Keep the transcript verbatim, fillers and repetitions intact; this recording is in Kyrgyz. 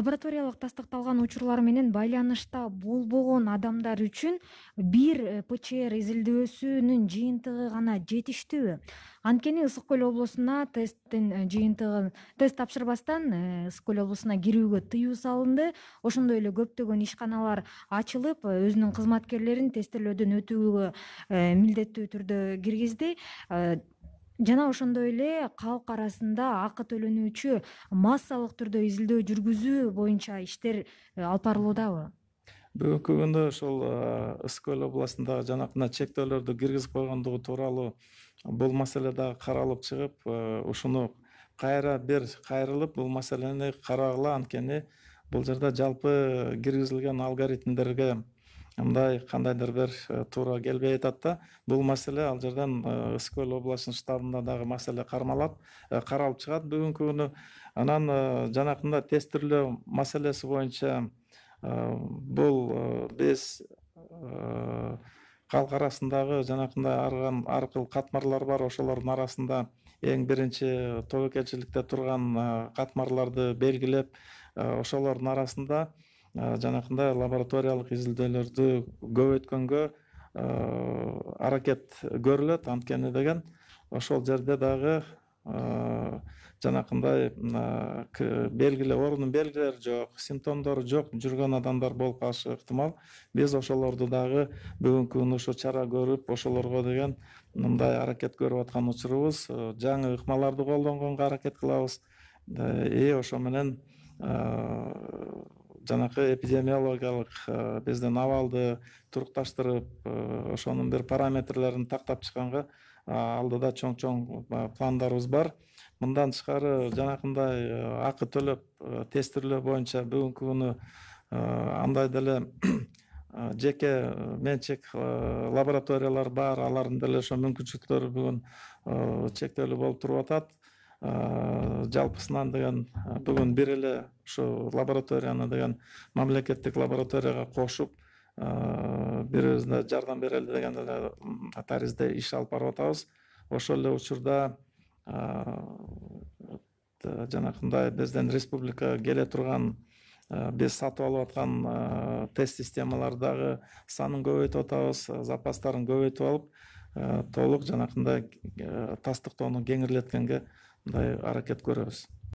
Лабораториялык тастыкталган учурлар менен байланышта болбогон адамдар үчүн бир ПЧР изилдөөсүнүн жыйынтыгы гана жетиштүүбү? Анткени Ысык көл облусуна тесттин жыйынтыгын тест тапшырбастан Ысык көл облусуна кирүүгө тыюу салынды. Ошондой эле көптөгөн ишканалар ачылып, өзүнүн кызматкерлерин тестелөөдөн өтүүгө милдеттүү түрдө киргизди. Жана ошондой эле калк арасында акы төлөнүүчү массалык түрдө изилдөө жүргүзүү боюнча иштер алып барылуудабы? Бүгүнкү күндө ошол Ысык көл областындагы жанакындай чектөөлөрдү киргизип койгондугу тууралуу бул маселе дагы каралып чыгып, ушуну кайра бир кайрылып бул маселени карагыла, анткени бул жерде жалпы киргизилген алгоритмдерге мындай кандайдыр бир туура келбей атат да. Бул маселе ал жерден Ысык көл областынын штабында дагы маселе кармалат, каралып чыгат бүгүнкү күнү. Анан жанакындай тестирлөө маселеси боюнча бул биз калк арасындагы жанакындай ар кыл катмарлар бар, ошолордун арасында эң биринчи тобокелчиликте турган катмарларды белгилеп, ошолордун арасында жанакындай лабораториялык изилдөөлөрдү көбөйткөнгө аракет көрүлөт. Анткени деген ошол жерде дагы жанакындай белгилер, оорунун белгилери жок, симптомдору жок жүргөн адамдар болуп калышы ыктымал. Биз ошолорду дагы бүгүнкү күнү ушу чара көрүп, ошолорго деген мындай аракет көрүп аткан учурубуз. Жаңы ыкмаларды колдонгонго аракет кылабыз. И ошо менен жанакы эпидемиологиялык биздин абалды турукташтырып, ошонун бир параметрлерин тактап чыкканга алдыда чоң-чоң пландарыбыз бар. Мындан тышкары жанакындай акы төлөп тестирлөө боюнча бүгүнкү күнү андай деле жеке менчик лабораториялар бар, алардын деле ошо мүмкүнчүлүктөрү бүгүн чектелүү болуп туруп атат. Жалпысынан деген бүгүн бир эле ушу лабораторияны деген мамлекеттик лабораторияга кошуп, бири-бирибизге жардам берели деген эле таризде иш алып барып атабыз. Ошол эле учурда жанакындай биздин республикага келе турган, биз сатып алып аткан тест системаларды дагы санын көбөйтүп атабыз, запастарын көбөйтүп алып, толук жанакындай тастыктоону кеңирлеткенге мындай аракет көрөбүз.